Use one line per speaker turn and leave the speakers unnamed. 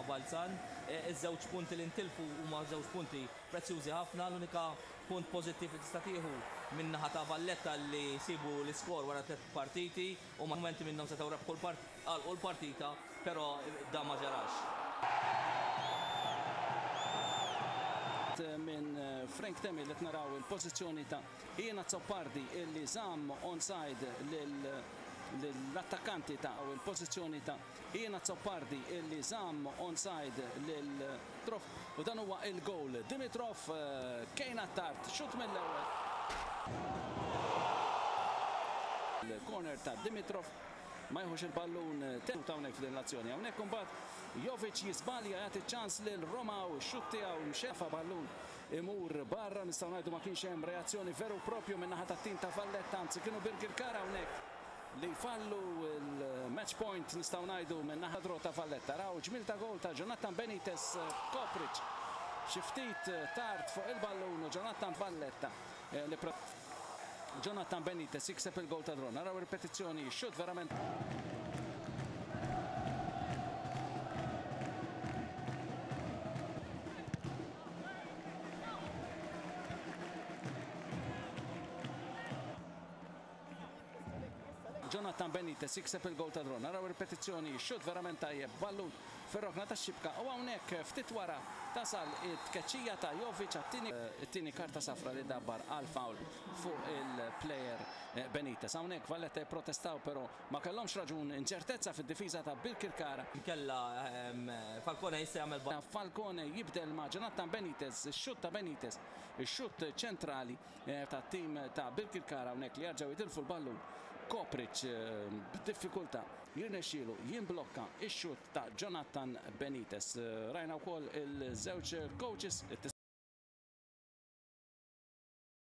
Balzan. Iż-żewġ punti li ntilfu huma żewġ punti prezzjużi ħafna. L-unika punt pożittiv li tista' tieħu min-naħa ta' Valletta li jsibu l-iskor wara tlett partiti u mumenti minnhom setgħu rebħu għalqu l-partita però dan ma ġarax.
Minn Frank Temil qed naraw il-pożizzjoni ta' Ian Azzopardi illi żamm onside lill-attakkanti ta' il-pożizzjoni ta' Ian Azzopardi illi żamm onside lil Dimitrov u dan huwa il-goal. Dimitrov Kane Attard xutt mill-ewwel. Il-corner ta' Dimitrov ma jieħux il-ballun tenut hawnhekk f'din l-azzjoni. Hawnhekk imbagħad Jovic jiżbalja jagħti ċans lil Romao, x-xutt tiegħu mxefa ballun imur barra, nistgħu ngħidu ma kienx hemm reazzjoni veru propju min-naħa tat-tim ta' Valletta, anzi kienu Birkirkara hawnhekk li jfallu l-match point nistgħu ngħidu min-naħa draw ta' Valletta. Raw ġmiel ta' goal ta' Jonathan Benitez Kopric xi ftit tard fuq il-ballun u Jonathan Valletta li Jonathan Benitez jikseb il-goal ta' draw. Naraw ripetizzjoni, xutt verament Jonathan Benitez jikseb il-goal ta' draw. Naraw ripetizzjoni, xutt verament tajjeb, ballun fir-rokna tax-xibka u hawnhekk ftit wara tasal it-tkeċċija ta' Jovic għat-tieni it-tieni karta safra li dabbar għal foul fuq il-player Benitez. Hawnhekk Valletta jipprotestaw però ma kellhomx raġun, inċertezza fid-difiża ta' Birkirkara.
Inkella Falcone jista' jagħmel.
Falcone jibdel ma' Jonathan Benitez, ix-xutt ta' Benitez, ix-xutt ċentrali tat-tim ta' Birkirkara hawnhekk li jerġgħu jitilfu l-ballun. Kopric b'diffikultà jirnexxielu jimblokka x-xutt ta' Jonathan Benitez. Rajna wkoll il-żewġ coaches.